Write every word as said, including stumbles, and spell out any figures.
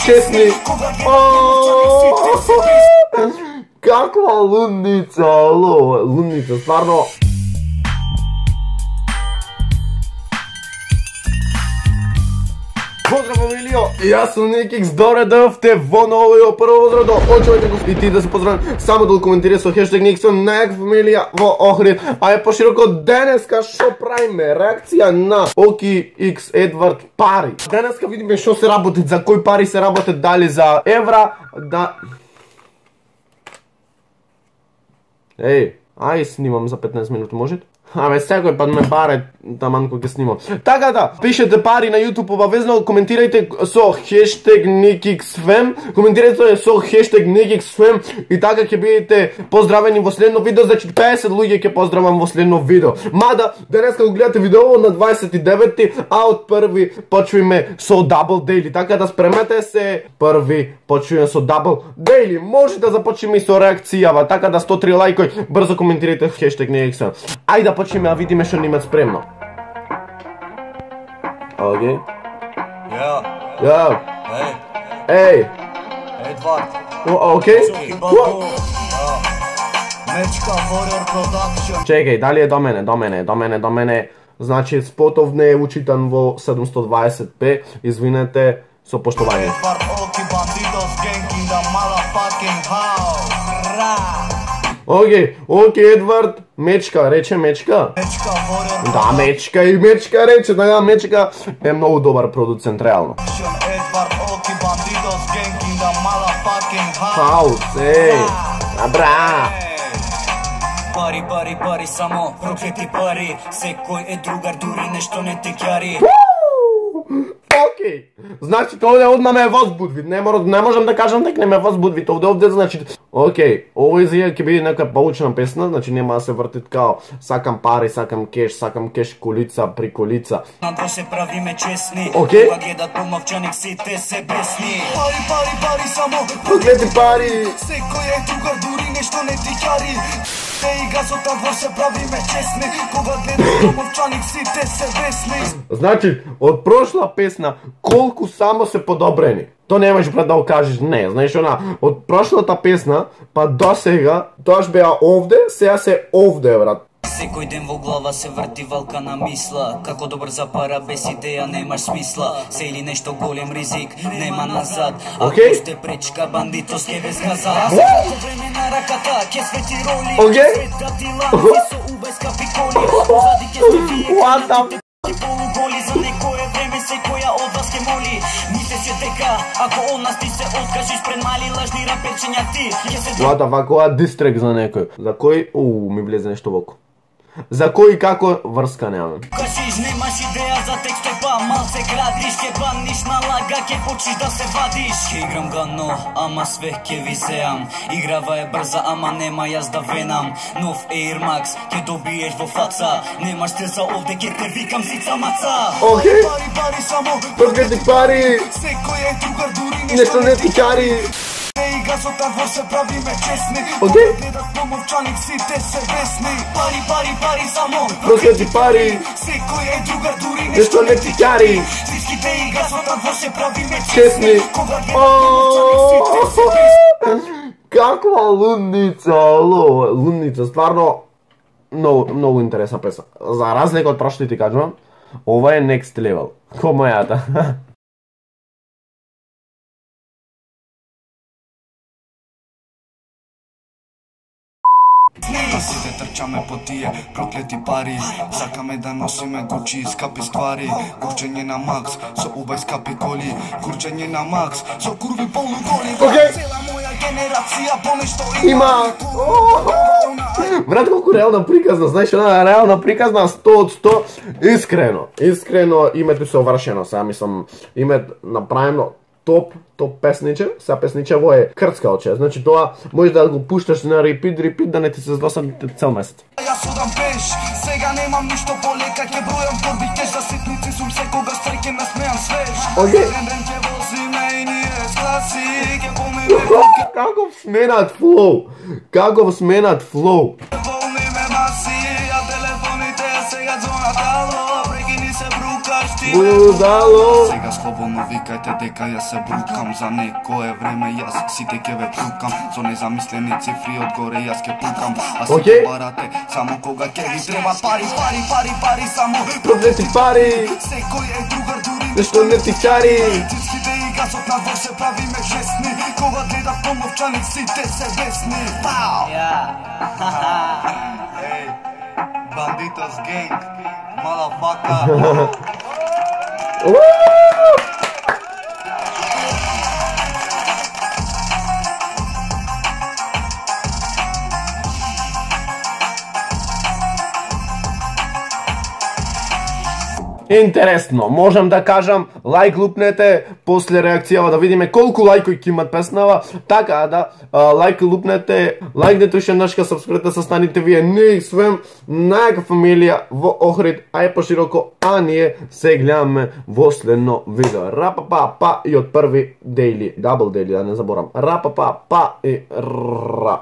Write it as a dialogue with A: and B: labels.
A: честни. Каква лудница, ало, лудница, стварно. Поздрав, фамилио! Јас сум Никикс, добре дојавте во новиот прво возрадо. Очувајте го и ти да се поздравам само да коментираш со хештег Никикс на фамилија во Охрид. А е пошироко денеска шо правиме? Реакција на Оки Икс Едвард пари. Денеска видиме шо се работи, за кои пари се работи, дали за евра, да... Еј, ај снимам за петнаесет минути, можете? Абе, секој пат ме баре таман кој ќе снимам. Така да, пишете пари на YouTube обавезно, коментирајте со хештег NikixFem, коментирајте со хештег NikixFem и така ќе бидете поздравени во следно видео, значи песет луѓе ќе поздравам во следно видео. Мада, денеска го гледате видео на дваесет и деветти, а од први почваме со Double Daily, така да спремете се, први почваме со Double Daily. Може да започнеме и со реакцијава, така да сто три лајкој, брзо коментирајте хештег NikixFem. Ајде да почнеме да видиме што имат спремно. Океј.
B: Ја.
A: Ја.
B: Еј.
A: Еј.
B: Едвард.
A: Океј.
B: Мечка Warrior Production.
A: Чекај, дали е до мене, до мене, до мене, до мене. Значи, спотов не е учитан во седумсто дваесет пе. Извинете, со поштовање.
B: Едвард Оки Banditos gang in the motherfucking house.
A: Океј, океј, Едвард, мечка, рече мечка.
B: Мечка Warrior
A: Да, мечка и мечка рече, да, мечка е многу добар продуцент, реално.
B: Едвард Оки Banditos gang in the motherfucking house.
A: Хаус, еј, абра.
B: Пари, пари, пари, само проклети пари. Секој е другар, дури нешто не те ќари.
A: Океј, значи овде одма ме возбудви, не, мора, не можам да кажам дека не ме возбудви, овде овде значи, океј, овој зија ќе биде нека поучна песна, значи нема да се врти као сакам пари, сакам кеш, сакам кеш колица при колица.
B: Надо се правиме честни,
A: океј,
B: кога гледат помовчаник сите се бесни. Пари, пари, пари, само
A: проклети пари.
B: Секој е другар, дури нешто не ти ќари. И газот во се правиме честни, кога гледат помовчаник сите се бесни.
A: Значи, од прошла песна, колку само се подобрени. То немаш, брат, да го кажеш, не, знаеш она, од прошлата песна, па до сега, тоаш беа овде, сега се овде, брат.
B: Секој ден во глава се врти валка на мисла, како добар за пара без идеја немаш смисла. Се или нешто голем ризик, нема назад. Ако сте пречка, бандитос ке ве згаза. Секој време на раката, ке свети роли. Светатила, со убајска пиколи. Позади ке сте фие, и полуголи. За некое време секоја од вас ке моли. Мисле се дека, ако од нас ти се откажиш пред мали лажни рапечења ти, ке се...
A: Вата, вакова дистрек за некој. За кој, уу, ми влезе нешто во око. За кој и како врска немам.
B: Кажиш немаш идеја за текстој, па малце градиш, ке баниш на лага, ке почнеш да се вадиш. Ке играм гано, ама све ке ви зеам. Играва е брза, ама нема јас да венам. Нов Air Max, ке добиеш во фаца. Немаш стил за овде, ке те викам сица маца.
A: Океј,
B: пари, пари, само
A: проклети пари.
B: Секој е другар, дури
A: нешто не ти ќари.
B: И газот во се правиме честни,
A: океј,
B: гледат помовчаник сите се бесни. Пари, пари, пари, само
A: проклети пари.
B: Секој е другар, дури
A: нешто не ти ќари.
B: Всичките и газот во се правиме
A: честни. Каква лудница, ало, лудница, стварно многу, многу интересна песна. За разлика од прошлите ти кажувам, ова е next level. Ко мојата.
B: Да сите трчаме по тие проклети пари. Сакаме да носиме Гучи и скапи ствари. Курчење на Макс со убај скапи коли. Курчење на Макс со курви полуголи. Цела моја генерација понешто
A: има. Брат, колку реална приказна, знаеш, една реална приказна сто од сто. Искрено, искрено името се овршено. Сега мислам, името направено топ, топ песниче, сега песничево е крцкалче, значи тоа може да го пушташ на репит, репит, да не ти се здосади цел месец.
B: Јас одам пеш, сега немам ништо полека, ке бројам торби кеш, за ситници сум секогаш среќен, насмејам свеж.
A: Океј.
B: Ден ке возиме и ние скласи, ке помиме.
A: Каков сменат флоу, каков сменат флоу.
B: Помиме маси, а телефоните сега звонат, ало, прекини се брукаш ти.
A: будало.
C: Сега слободно викајте дека ја се брукам. За некое време јас сите ќе ве плукам. Со незамислени цифри одгоре јас ќе пукам. А сите
A: Океј.
C: барате само кога ќе ви треба пари, пари, пари, пари, само
A: Проблети пари,
C: секој е другар дури
A: нешто не ти чари.
C: Цицките и газот на двор се правиме жесни. Кога гледат помовчаник сите се бесни. Пау! Ей, Banditos Gang, motherfucker.
A: Интересно, можам да кажам, лайк лупнете, после реакцијава да видиме колку лајкови ќе имат песнава, така да лайк лупнете, лайкнете уште нашка сабскрипта, состаните вие ние свем најака фамилија во Охрид, а е пошироко, а ние се гледаме во следно видео. Рапапа па и од први дейли, дабл дейли, да не заборам. Рапапа па и ра.